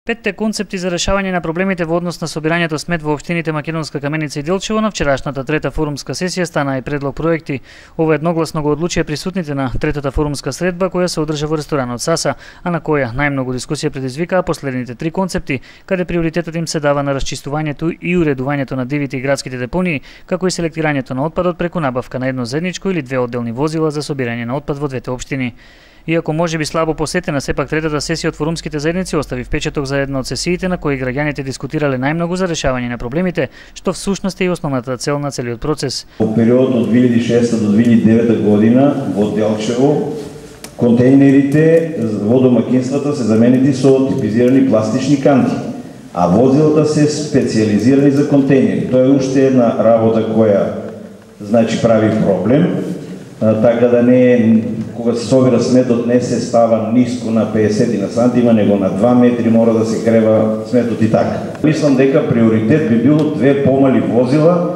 Петте концепти за решавање на проблемите во однос на собирањето смет во општините Македонска Каменица и Делчево на вчерашната трета форумска сесија стана и предлог проекти. Ова едногласно го одлучија присутните на третата форумска средба која се одржа во ресторанот Саса, а на која најмногу дискусија предизвикаа последните три концепти, каде приоритетот им се дава на расчистувањето и уредувањето на дивите и градските депонии, како и селектирањето на отпадот преку набавка на едно заедничко или две одделни возила за собирање на отпад во двете општини. Иако можеби слабо посетена, сепак третата сесија од форумските заедници остави впечаток за една од сесиите на кои граѓаните дискутирале најмногу за решавање на проблемите, што всушност е и основната цел на целиот процес. Во период од 2006 до 2009 година во Делчево контејнерите во домакинствата се заменети со типизирани пластични канти, а возилата се специјализирани за контејнери. Тоа е уште една работа која прави проблем, така да не кога се собира сметот не се става ниско на 50 на сантима, него на 2 метри мора да се крева сметот и така. Мислам дека приоритет би било две помали возила,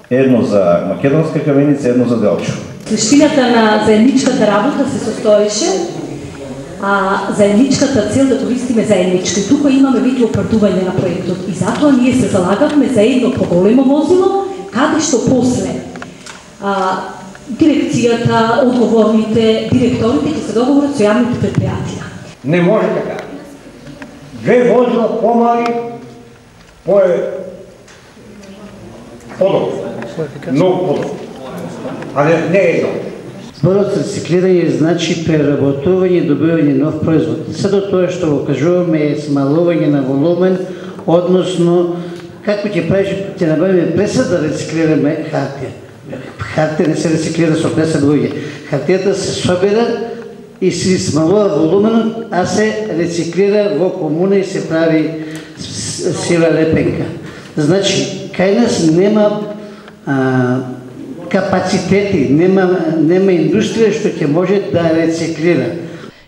едно за Македонска Каменица, едно за Делчево. Суштината на заедничката работа се состоеше, а заедничката цел да користиме заедничко. И тука имаме вид оправдување на проектот и затоа ние се залагавме за едно поголемо возило, каде што после дирекцијата, одговорните, директорите ќе се договорат со јавните предпријатија. Не може така. Две возила помали, подобро. Многу подобро. А не едно. Зборот за рециклирање значи преработување и добивање нов производ. Сето тоа што го кажуваме е смалување на волумен, односно како ќе правиш, ќе набавиме преса да рециклираме хартија. Хартија не се рециклира со преса луѓе. Хартијата се собира и се смалува волуменот, а се рециклира во комуна и се прави сива лепенка. Значи, кај нас нема капацитети, нема индустрија што ќе може да рециклира.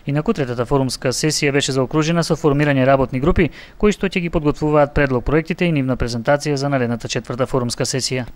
Инаку третата форумска сесија беше заокружена со формирање работни групи кои што ќе ги подготвуваат предлог проектите и нивна презентација за наредната четврта форумска сесија.